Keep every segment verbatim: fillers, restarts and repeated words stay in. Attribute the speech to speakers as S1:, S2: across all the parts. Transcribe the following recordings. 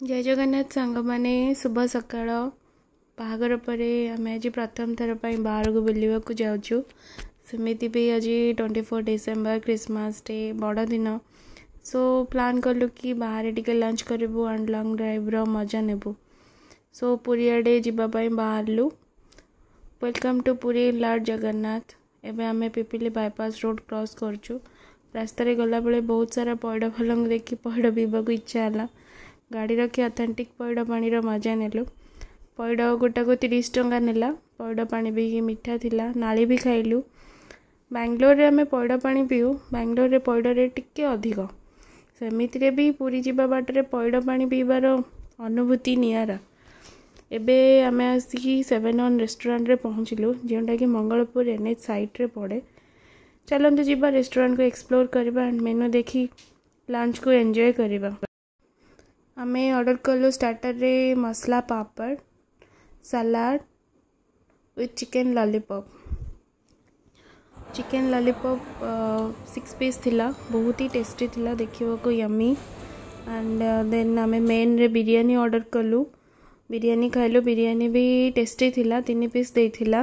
S1: ଜୟ ଜଗନ୍ନାଥ ସାଙ୍ଗମାନେ, ଶୁଭ ସକାଳ। ବାହାଘର ପରେ ଆମେ ଆଜି ପ୍ରଥମ ଥର ପାଇଁ ବାହାରକୁ ବୁଲିବାକୁ ଯାଉଛୁ। ସେମିତି ବି ଆଜି twenty four December, Christmas day, ବଡ଼ଦିନ। ସୋ ପ୍ଲାନ୍ କଲୁ କି ବାହାରେ ଟିକେ ଲଞ୍ଚ କରିବୁ ଆଣ୍ଡ ଲଙ୍ଗ୍ ଡ୍ରାଇଭ୍ର ମଜା ନେବୁ। ସୋ ପୁରୀ ଆଡ଼େ ଯିବା ପାଇଁ ବାହାରିଲୁ। Welcome to Puri, Lord Jagannath. ଏବେ ଆମେ ପିପିଲି ବାଇପାସ୍ ରୋଡ଼ କ୍ରସ୍ କରୁଛୁ। ରାସ୍ତାରେ ଗଲାବେଳେ ବହୁତ ସାରା ପଇଡ଼ ଫଲଙ୍କୁ ଦେଖି ପଇଡ଼ ପିଇବାକୁ ଇଚ୍ଛା ହେଲା। ଗାଡ଼ି ରଖି ଅଥେଣ୍ଟିକ୍ ପଇଡ଼ ପାଣିର ମଜା ନେଲୁ। ପଇଡ଼ ଗୋଟାକୁ ତିରିଶ ଟଙ୍କା ନେଲା। ପଇଡ଼ ପାଣି ବି ମିଠା ଥିଲା। ନାଳି ବି ଖାଇଲୁ। ବାଙ୍ଗଲୋରରେ ଆମେ ପଇଡ଼ ପାଣି ପିଉ। ବାଙ୍ଗଲୋରରେ ପଇଡ଼ ରେଟ୍ ଟିକେ ଅଧିକ। ସେମିତିରେ ବି ପୁରୀ ଯିବା ବାଟରେ ପଇଡ଼ ପାଣି ପିଇବାର ଅନୁଭୂତି ନିଆରା। ଏବେ ଆମେ ଆସିକି ସେଭେନ୍ ଅନ୍ ରେଷ୍ଟୁରାଣ୍ଟରେ ପହଞ୍ଚିଲୁ, ଯେଉଁଟାକି ମଙ୍ଗଳପୁର ଏନ୍ ଏଚ୍ ସାଇଡ଼୍ରେ ପଡ଼େ। ଚାଲନ୍ତୁ ଯିବା, ରେଷ୍ଟୁରାଣ୍ଟକୁ ଏକ୍ସପ୍ଲୋର୍ କରିବା ଆଣ୍ଡ ମେନୁ ଦେଖି ଲଞ୍ଚକୁ ଏନ୍ଜୟ କରିବା। ଆମେ ଅର୍ଡ଼ର କଲୁ ଷ୍ଟାର୍ଟରରେ ମସଲା ପାପଡ଼, salad with chicken lollipop. Chicken lollipop six piece ଥିଲା, ବହୁତ ହି ଟେଷ୍ଟି ଥିଲା, ଦେଖିବାକୁ ୟମି। ଆଣ୍ଡ ଦେନ୍ ଆମେ ମେନ୍ରେ ବିରିୟାନୀ ଅର୍ଡ଼ର କଲୁ। ବିରିୟାନୀ ଖାଇଲୁ। ବିରିୟାନୀ ବି ଟେଷ୍ଟି ଥିଲା, ତିନି ପିସ୍ ଦେଇଥିଲା।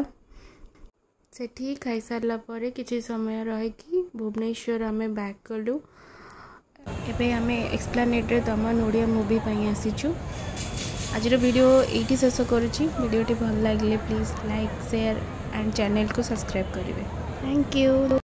S1: ସେଠି ଖାଇସାରିଲା ପରେ କିଛି ସମୟ ରହିକି ଭୁବନେଶ୍ୱର ଆମେ ବ୍ୟାକ୍ କଲୁ। ଏବେ ଆମେ ଏକ୍ସପ୍ଲାନେଟ୍ରେ ଦମନ ଓଡ଼ିଆ ମୁଭି ପାଇଁ ଆସିଛୁ। ଆଜିର ଭିଡ଼ିଓ ଏଇଠି ଶେଷ କରୁଛି। ଭିଡ଼ିଓଟି ଭଲ ଲାଗିଲେ ପ୍ଲିଜ୍ ଲାଇକ୍, ସେୟାର ଆଣ୍ଡ ଚ୍ୟାନେଲକୁ ସବସ୍କ୍ରାଇବ୍ କରିବେ। Thank you.